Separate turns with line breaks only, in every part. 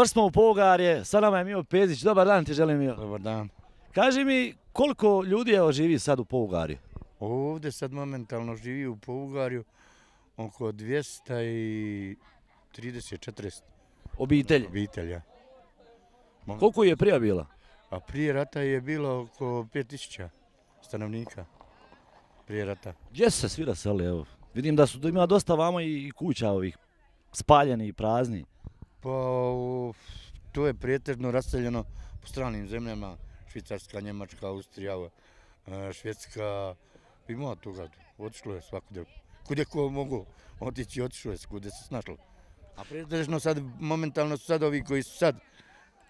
Došli smo u Pougarje, sa nama je Mio Pezić. Dobar dan ti želim, Mio.
Dobar dan.
Kaži mi koliko ljudi živi sad u Pougarju?
Ovdje sad momentalno živi u Pougarju oko 230-40
Obitelji.
obitelja.
Koliko je prije bila?
A prije rata je bilo oko 5000 stanovnika. Prije rata.
Gdje su se svi raseli? Evo, vidim da ima dosta vamo i kuća ovih spaljeni i prazni.
Pa to je pretežno raseljeno po stranim zemljama. Švicarska, Njemačka, Austrija, Švedska. Ima toga. Otišlo je svakude. Kude ko mogu otići, otišlo je kude se snašlo. A pretežno sad, momentalno su sad ovi koji su sad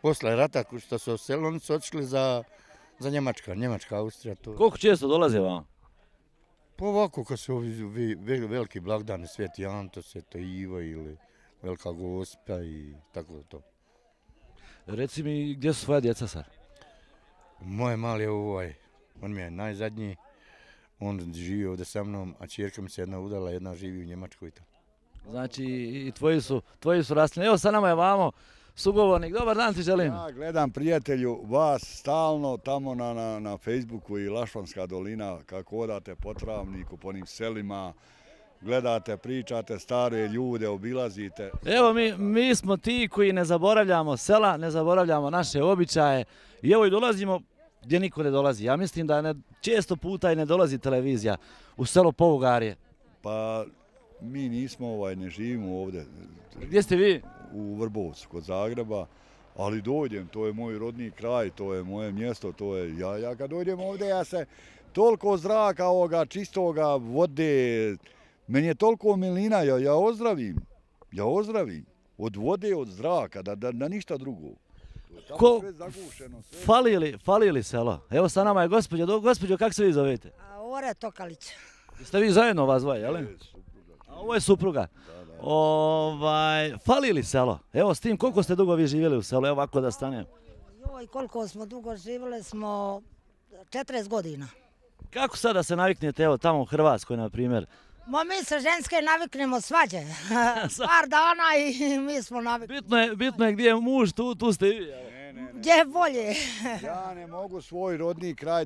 posle rata što su oselili, oni su otišli za Njemačka, Austrija. To.
Koliko često dolaze vamo?
Pa ovako kad su ovi veliki blagdani, Sveti Anto, Sveto Ivo ili Velika Gospa i tako da to.
Reci mi gdje su svoja djeca sad?
Moje mali je on mi je najzadnji, on živi ovdje sa mnom, a čerka mi se jedna udala, jedna živi u Njemačkoj.
Znači i tvoji su rasli. Evo sa nama je vamo sugovornik. Dobar dan ti želim.
Ja gledam prijatelju vas stalno tamo na Facebooku i Lašvanska dolina kako odate po Travniku, po onim selima, gledate, pričate, stare ljude, obilazite.
Evo mi smo ti koji ne zaboravljamo sela, ne zaboravljamo naše običaje i evo i dolazimo gdje niko ne dolazi. Ja mislim da često puta i ne dolazi televizija u selo Pougarje.
Pa mi nismo, ne živimo ovdje.
Gdje ste vi?
U Vrbovcu, kod Zagreba, ali dođem, to je moj rodni kraj, to je moje mjesto, to je, ja kad dođem ovdje, ja se toliko zraka ovoga, čistoga, vode, meni je toliko milina, ja ozdravim, od vode, od zraka, da ništa drugo.
Fali li selo? Evo sa nama je gospođo, kako se vi zovete?
Ore Tokalić.
Jeste vi zajedno vas dvoje, jel? Ovo je supruga. Fali li selo? Evo s tim, koliko ste dugo vi živjeli u selu? Evo ovako da stanem.
Joj, koliko smo dugo živjeli smo 40 godina.
Kako sada se naviknete, evo tamo u Hrvatskoj, na primjer?
Mi se ženske naviknemo svađe. Par dana i mi smo navikli.
Bitno je gdje je muž, tu ste i vi.
Gdje je bolje.
Ja ne mogu svoj rodni kraj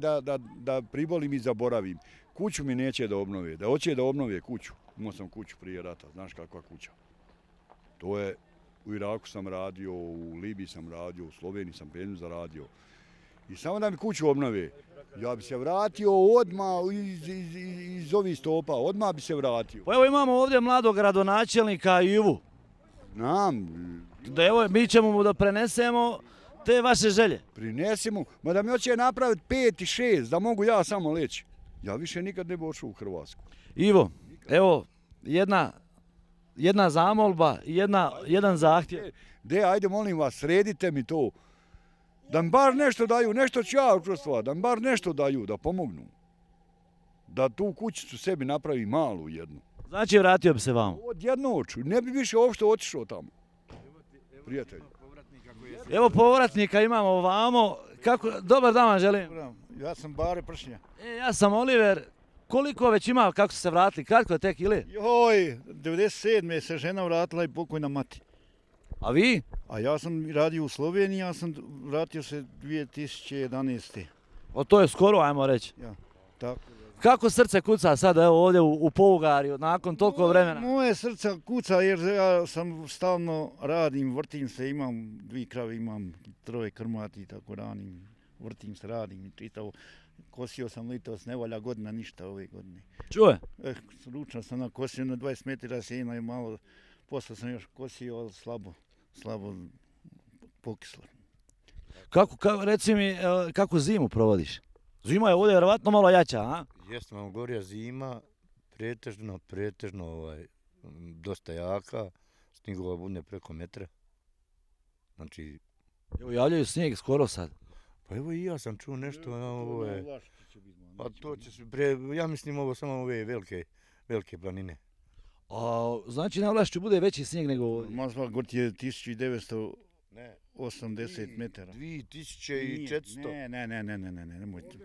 da pribolim i zaboravim. Kuću mi neće da obnove, da hoće da obnove kuću. Imao sam kuću prije rata, znaš kakva kuća. To je, u Iraku sam radio, u Libiji sam radio, u Sloveniji sam penju zaradio. I samo da mi kuću obnove, ja bi se vratio odmah iz ovih stopa, odmah bi se vratio.
Pa evo imamo ovdje mladog gradonačelnika Ivu.
Znam.
Da evo, mi ćemo mu da prenesemo te vaše želje.
Prinesimo, ma da mi hoće napraviti 5 i 6, da mogu ja samo leći. Ja više nikad ne bi odšao u Hrvatsku.
Ivo, evo, jedna zamolba, jedan zahtjev.
Ajde molim vas, sredite mi to. Da mi bar nešto daju, nešto ću ja učestvovati, da mi bar nešto daju, da pomognu. Da tu kućicu sebi napravi malu jednu.
Znači vratio bi se vamo?
Odjednoću, ne bi više uopšte otišao tamo. Prijatelj.
Evo povratnika imamo ovamo. Dobar dan vam želim.
Ja sam Bare Pršnja.
Ja sam Oliver. Koliko već ima, kako ste se vratili? Kratko tek ili?
Joj, 97. se žena vratila i pokojna mati.
A vi?
A ja sam radio u Sloveniji, ja sam vratio se 2011.
O, to je skoro, ajmo reći.
Ja, tako.
Kako srce kuca sad evo ovdje u Pougarju nakon toliko vremena?
Moje srce kuca jer ja sam stalno radim, vrtim se, imam 2 krave, imam 3 krmati, tako ranim, vrtim se, radim i čitavo. Kosio sam litos, ne valja godina ništa ove godine.
Čuje?
Ručno sam nakosio na 20 metara sjena i malo, posle sam još kosio, ali slabo pokislo.
Reci mi, kako zimu provodiš? Zima je ovdje vjerovatno malo jača, a?
Jeste vam gorija zima, pretežno, dosta jaka, snigova bude preko metra. Znači...
Evo javljaju snijeg skoro sad.
Pa evo i ja sam čuo nešto, pa to će se, ja mislim ovo samo ove velike planine.
Znači na Vlašću bude veći snijeg nego ovdje?
Mazva Gort je 1980 metara.
2400.
Ne, nemojte.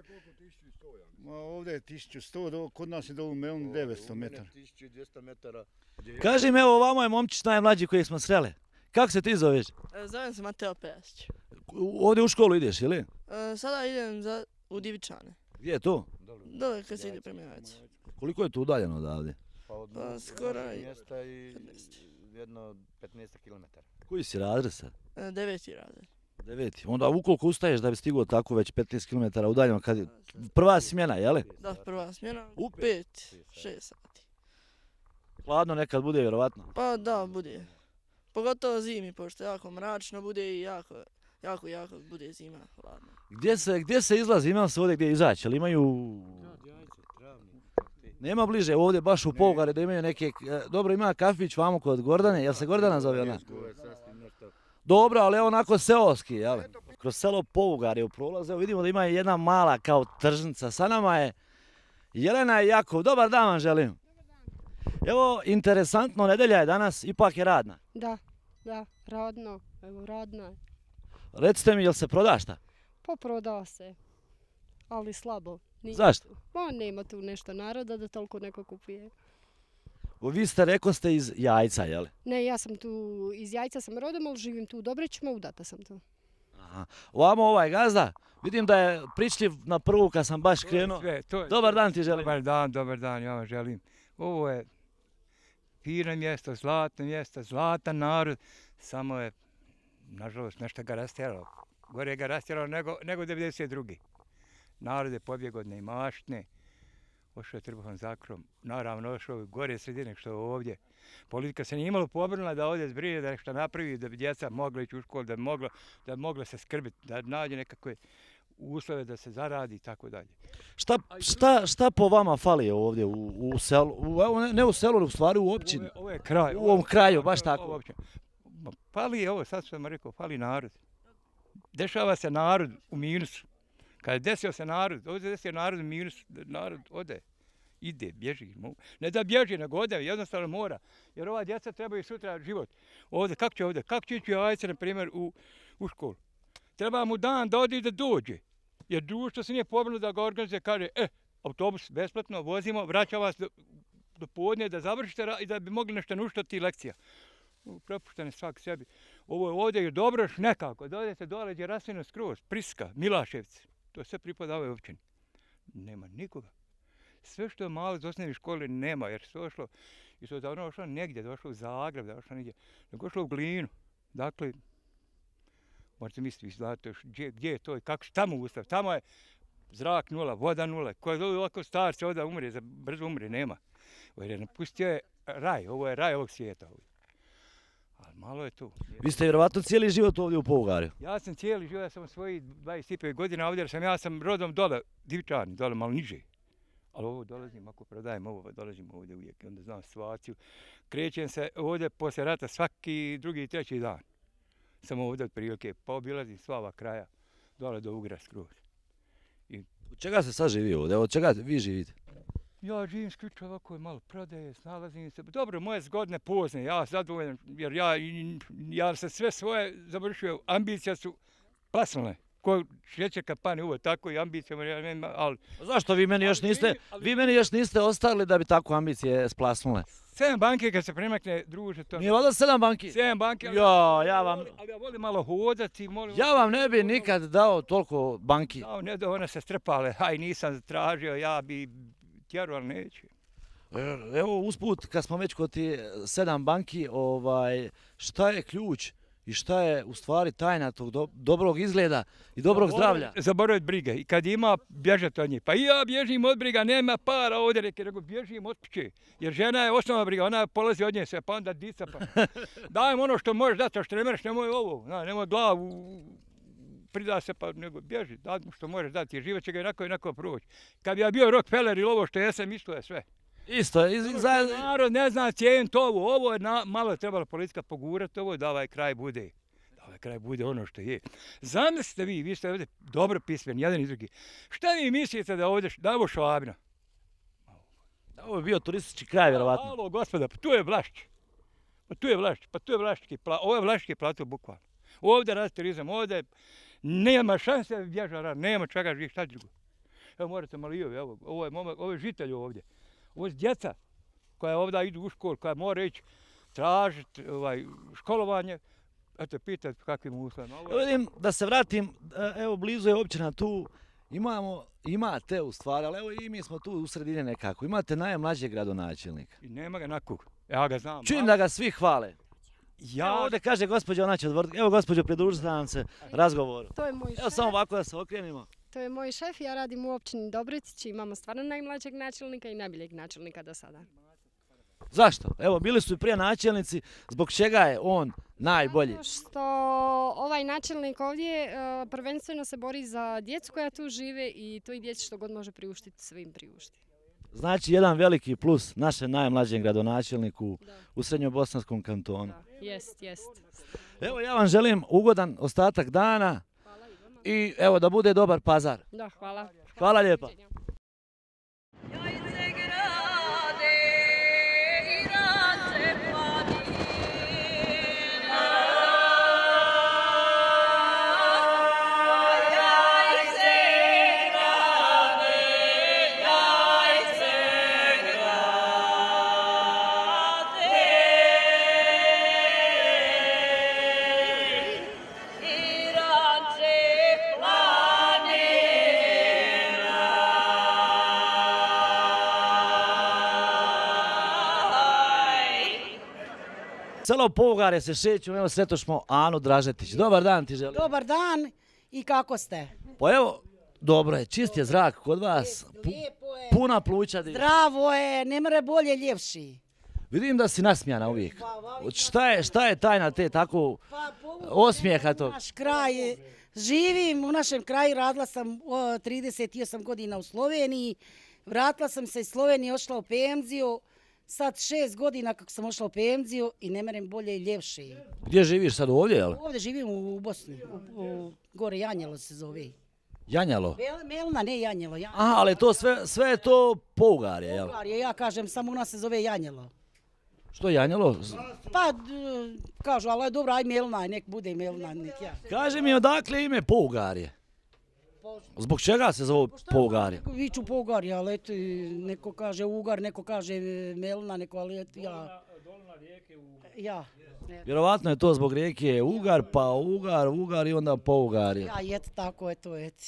Ovdje je 1100, kod nas je dolu Meln 900 metara.
1200 metara.
Kaži mi, evo ovamo je momčić najmlađi kojeg smo sreli. Kako se ti zoveš?
Zovem se Mateo Pejasić.
Ovdje u školu ideš, ili?
Sada idem u Divičane.
Gdje je to?
Dole kad se ide prema Jajcu.
Koliko je to udaljeno odavde?
Pa od
skoro
našeg
i
mjesta i jedno 15 km.
Koji si razred sad?
9. razred.
9. Onda ukoliko ustaješ da bi stigao tako već 15 km udaljeno, kad je prva smjena, jeli?
Da, prva smjena
U
u 5-6 sati.
Hladno nekad bude, vjerovatno.
Pa da, bude. Pogotovo zimi, pošto jako mračno bude i jako bude zima hladno.
Gdje se izlazi? Imam se ovdje gdje izaći, ali imaju... Nema bliže, ovdje baš u Povugari da imaju neke... Dobro, ima kafić vamo kod Gordane, jel se Gordana zove ona? Dobro, ali onako seoski, jel? Kroz selo Povugarje u prolaze, vidimo da ima jedna mala kao tržnica. Sa nama je Jelena i Jakov. Dobar dan vam želim. Evo, interesantno, nedelja je danas, ipak je radna.
Da, radno, evo radno je.
Recite mi, jel se proda šta?
Poproda se, ali slabo.
Zašto?
Pa nema tu nešto naroda da toliko neko kupuje.
Vi ste iz Jajca, jel?
Ne, ja sam tu, iz Jajca sam rodom, ali živim tu u Dobrićima, udata sam tu.
Aha. Ovamo ovaj gazda, vidim da je pričljiv na prvu kad sam baš krenuo. Dobar dan ti želim.
Dobar dan, ja vam želim. Ovo je fino mjesto, zlatno mjesto, zlatan narod, samo je, nažalost, nešto ga rastjeralo. Gore ga rastjeralo nego 92. Narod je pobjegao od neimaštine, ošao je trbuhom za krom, naravno ošao gore sredine što je ovdje. Politika se nije imalo pobrinula da ovdje zbrine, da nešto napravi, da bi djeca mogla ići u školu, da bi mogla se skrbiti, da nađe nekakve uslove da se zaradi i tako dalje.
Šta po vama fali ovdje u selu, ne u selu, u stvari u općini?
Ovo je kraj.
U ovom kraju, baš tako.
Fali, ovo sad sam rekao, fali narod. Dešava se narod u minusu. Kad je desio se narod, ovdje desio narod u minus, narod ode, ide, bježi. Ne da bježi, nego ode, jednostavno mora. Jer ova djeca trebaju sutra život. Ovdje, kako će ovdje? Kako će ići Jajce, na primjer, u školu? Treba mu dan da ode i da dođe. Jer društvo se nije pobrinulo da ga organizuje, kaže, autobus besplatno, vozimo, vraća vas do podne da završite i da bi mogli nešto nuštati lekcija. Prepuštene svak sebi. Ovo je ovdje je dobro još nekako. Dodajte dole gdje je rasvijeno skroz, Priska, Milaševci. To sve pripada ovoj općini. Nema nikoga. Sve što je malo iz osnovne škole nema, jer se došlo, i to je davno došlo negdje, došlo u Zagreb, došlo negdje, nego došlo u Glinu. Dakle, možete misliti, gdje je to i kako, šta mu ustav? Tamo je zrak nula, voda nula. Ko je ovako star se ovdje umre, brzo umre, nema. Jer napustio je raj, ovo je raj ovog svijeta. Ali malo je tu.
Vi ste vjerovatno cijeli život ovdje u Povugarju?
Ja sam cijeli život, ja sam svojih 25 godina ovdje, jer ja sam rodom dole, Divičani, dole malo niže. Ali ovo dolazim, ako prodajem ovo, dolazim ovdje uvijek, onda znam situaciju. Krećem se ovdje poslije rata svaki drugi i treći dan. Sam ovdje od prilike, pa obilazim sva ova kraja, dole do Ugra skroz.
Od čega se sad živi ovdje? Od čega vi živite?
Ja živim isključivo ovako je malo prodaje, snalazim se. Dobro, moje zgodne pozne, ja zadovoljan, jer ja sam sve svoje završio, ambicija su plasnule. Ko šećer kad pane uvo, tako i ambicijama, ali...
Zašto vi meni još niste ostali da bi tako ambicije splasnule?
7 banke kad se premakne, druže, to...
Nije valjda 7 banki?
7 banke, ali ja volim malo hodati,
ja vam ne bi nikad dao toliko banki.
Ne da one se strpale, nisam tražio, ja bi tjeru, ali neću.
Evo usput, kad smo već kod ti 7 banki, šta je ključ i šta je u stvari tajna tog dobrog izgleda i dobrog zdravlja?
Zaboraviti brige i kad ima, bježati od njih. Pa i ja bježim od briga, nema para ovdje, nego bježim od kuće. Jer žena je osnovna briga, ona polazi od nje sve, pa onda dica pa. Dajem ono što možeš dati, a što ne mereš, nemoj ovo, nemoj glavu, prida se pa nego bježi, daj mu što možeš dati, jer život će ga jednako proći. Kad bi ja bio Rockefeller ili ovo što jesam, isto je sve.
Isto je.
Narod ne zna cijeniti ovo je malo trebalo politika pogurati ovo da ovaj kraj bude. Da ovaj kraj bude ono što je. Zamislite vi ste ovdje dobro pismeni, jedan i drugi. Šta vi mislite da je ovo Švabina?
Ovo je bio turistički kraj, vjerovatno.
Alo, gospoda, pa tu je Vlašć. Ovo je Vlaški plato bukvalno. Ovdje radi turizam, ovdje nema šanse da bježa, nema čega živjeti, šta drugo. Evo morate malo i ovo je žitelj ovdje. Ovo je djeca koja ovdje idu u školu, koja mora ići tražiti školovanje, Eto, pitajte kakvim uslovima.
Evo vidim da se vratim, evo blizu je općina tu, imate u stvari, ali evo i mi smo tu u sredini nekako, imate najmlađeg gradonačelnika.
I nema ga nakog. Ja ga znam.
Čujem da ga svi hvale. Evo ovdje kaže gospođa, ona će odvrti. Evo gospođo, pridružite nam se razgovoru.
To je moj
Evo
šef.
samo ovako da se okrenimo.
To je moj šef, ja radim u općini Dobretić, imamo stvarno najmlađeg načelnika i najboljeg načelnika do sada.
Zašto? Evo, bili su i prije načelnici, zbog čega je on najbolji?
Zato što ovaj načelnik ovdje prvenstveno se bori za djecu koja tu žive i toj djeci što god može priuštiti, sve im priušti.
Znači, jedan veliki plus našem najmlađem gradonačelniku u Srednjobosanskom kantonu.
Jest.
Evo, ja vam želim ugodan ostatak dana i evo da bude dobar pazar.
Da, hvala.
Hvala lijepa. Selo Pougarje se šeću, evo sretošmo Anu Dražetić. Dobar dan ti želim.
Dobar dan i kako ste?
Pa evo, dobro je, čist je zrak kod vas,
Lijepo je,
puna pluća.
zdravo je, ne more bolje ljepši.
Vidim da si nasmijana uvijek. Šta je tajna te tako osmijeha tog?
Naš kraj, živim u našem kraju, radila sam 38 godina u Sloveniji, vratila sam se iz Slovenije, ošla u penziju, sad 6 godina kako sam ošla u penziju i ne merem bolje i ljepši.
Gdje živiš sad ovdje, jel?
Ovdje živim u Bosni, u gore Janjelo se zove.
Janjalo?
Melna, ne Janjelo.
Aha, ali to sve je to Pougarje, jel?
Pougarje, ja kažem, samo u nas se zove Janjelo.
Što Janjelo?
Pa, kažu, ali dobro, aj Melna, nek bude Melna, nek ja.
Kaži mi odakle ime Pougarje? Zbog čega se zove Pougarje?
Viču Pougarje, ali eto, neko kaže Ugar, neko kaže Melna, neko, ali eto, ja. Ja.
Vjerovatno je to zbog rijeke Ugar, pa Ugar i onda Pougarje.
Ja, eto, tako je to, eto.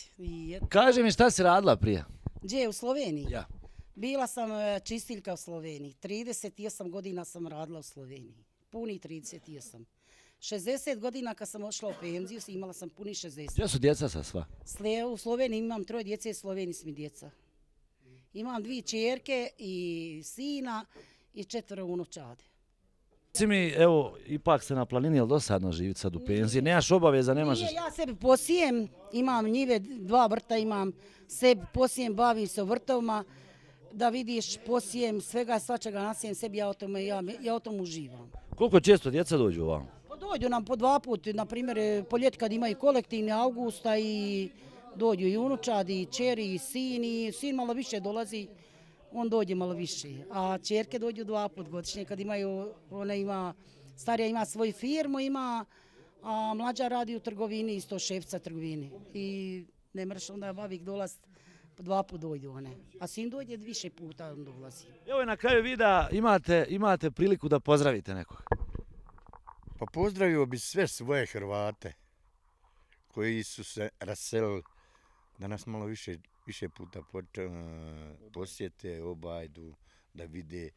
Kaži mi šta si radila prije?
Gdje, u Sloveniji?
Ja.
Bila sam čistiljka u Sloveniji. 38 godina sam radila u Sloveniji. Puni 38. 60 godina kad sam ošla u penziju, imala sam puni 60.
Gdje su djeca sa sva?
U Sloveniji imam 3 djece i u Sloveniji su mi djeca. Imam 2 čerke i sina i 4 unučade.
Reci mi, evo, ipak se na planini, jel dosadno živjeti sad u penziji? Nemaš obaveza, nemaš...
Nije, ja sebi posijem, imam njive, 2 vrta imam, sebi posijem, bavim se o vrtovima, da vidiš, posijem svega, svačega nasijem sebi, ja o tom uživam.
Koliko često djeca dođu ovamo?
Pa dođu nam po 2 puta, na primjer, po ljeti kad imaju kolektivni augusta i dođu i unučadi, i čeri, i sin malo više dolazi, on dođe malo više, a čerke dođu 2 puta godišnje kad imaju, starija ima svoju firmu, a mlađa radi u trgovini, isto šefca trgovini i ne mreš onda babik dolaz, 2 puta dođu one, a sin dođe više puta on dolazi.
Evo na kraju videa imate priliku da pozdravite nekog.
Pa pozdravio bi sve svoje Hrvate koji su se raselili, da nas malo više puta posjete, obajdu, da vide,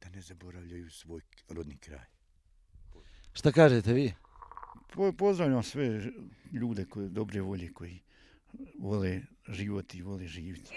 da ne zaboravljaju svoj rodni kraj.
Šta kažete vi?
Pozdravljam sve ljude koje dobre volje, koji vole život i vole živjeti.